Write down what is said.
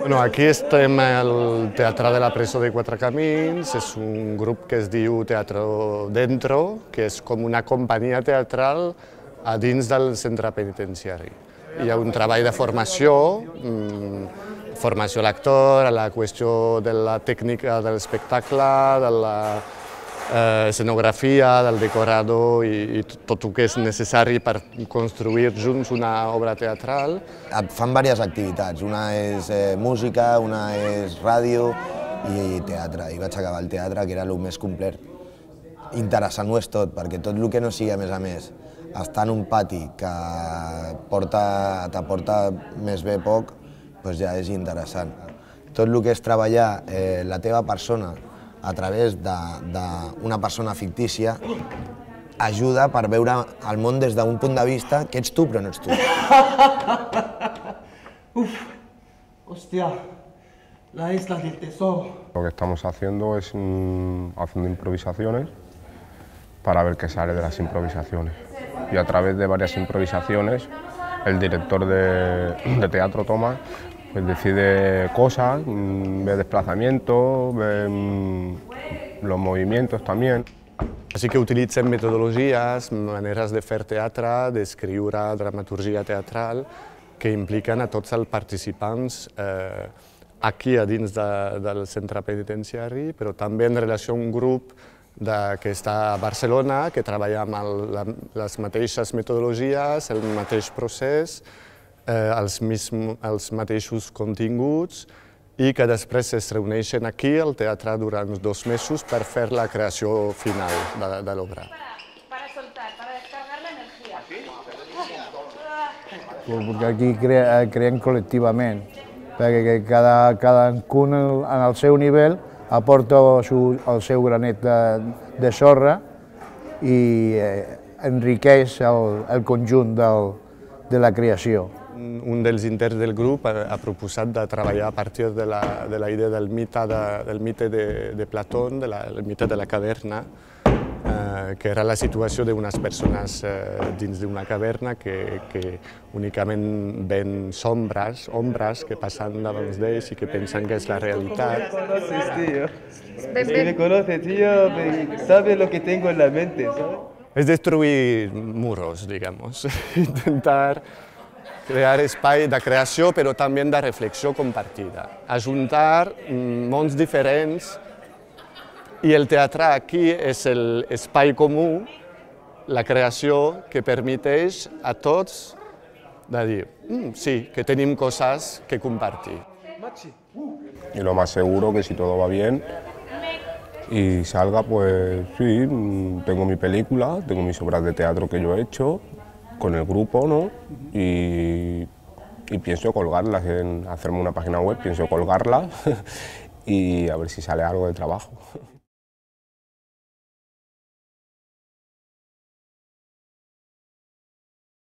Bueno, aquí estem al Teatre de la Presó de Quatre Camins, és un grup que es diu Teatro Dentro, que és com una companyia teatral a dins del centre penitenciari. Hi ha un treball de formació, formació a l'actor, a la qüestió de la tècnica de l'espectacle, de la escenografia, del decorador i tot el que és necessari per construir junts una obra teatral. Fan diverses activitats, una és música, una és ràdio i teatre. I vaig acabar el teatre, que era el més complet. Interessant ho és tot, perquè tot el que no sigui, a més, estar en un pati que t'aporta més bé poc, doncs ja és interessant. Tot el que és treballar la teva persona a través d'una persona fictícia ajuda per veure el món des d'un punt de vista que ets tu però no ets tu. Uf, hostia, la isla del tesoro. Lo que estamos haciendo es haciendo improvisaciones para ver qué sale de las improvisaciones. Y a través de varias improvisaciones, el director de teatro, Tomás, pues decide cosas, ve desplazamientos, ve los movimientos también. Així que utilitzem metodologies, maneres de fer teatre, d'escriure dramaturgia teatral, que impliquen a tots els participants aquí a dins del centre penitenciari, però també en relació a un grup que està a Barcelona, que treballa amb les mateixes metodologies, el mateix procés, els mateixos continguts i que després es reuneixen aquí al teatre durant 2 mesos per fer la creació final de l'obra. Para soltar, para descargar la energía. Perquè aquí creem col·lectivament, perquè cadascun en el seu nivell aporta el seu granet de sorra i enriqueix el conjunt de la creació. Un dels interns del grup ha proposat de treballar a partir de la idea del mite de Platón, del mite de la caverna, que era la situació d'unes persones dins d'una caverna que únicament ven ombres que passen davant d'ells i que pensen que és la realitat. Me conoces, tío, sabes lo que tengo en la mente, ¿sabes? És destruir muros, digamos, intentar crear espai de creació però també de reflexió compartida, ajuntar mons diferents i el teatre aquí és l'espai comú, la creació que permeteix a tots de dir sí, que tenim coses que compartir. Y lo más seguro que si todo va bien y salga, pues sí, tengo mi película, tengo mis obras de teatro que yo he hecho con el grupo, ¿no? Y pienso colgarlas, hacerme una página web, pienso colgarlas y a ver si sale algo de trabajo.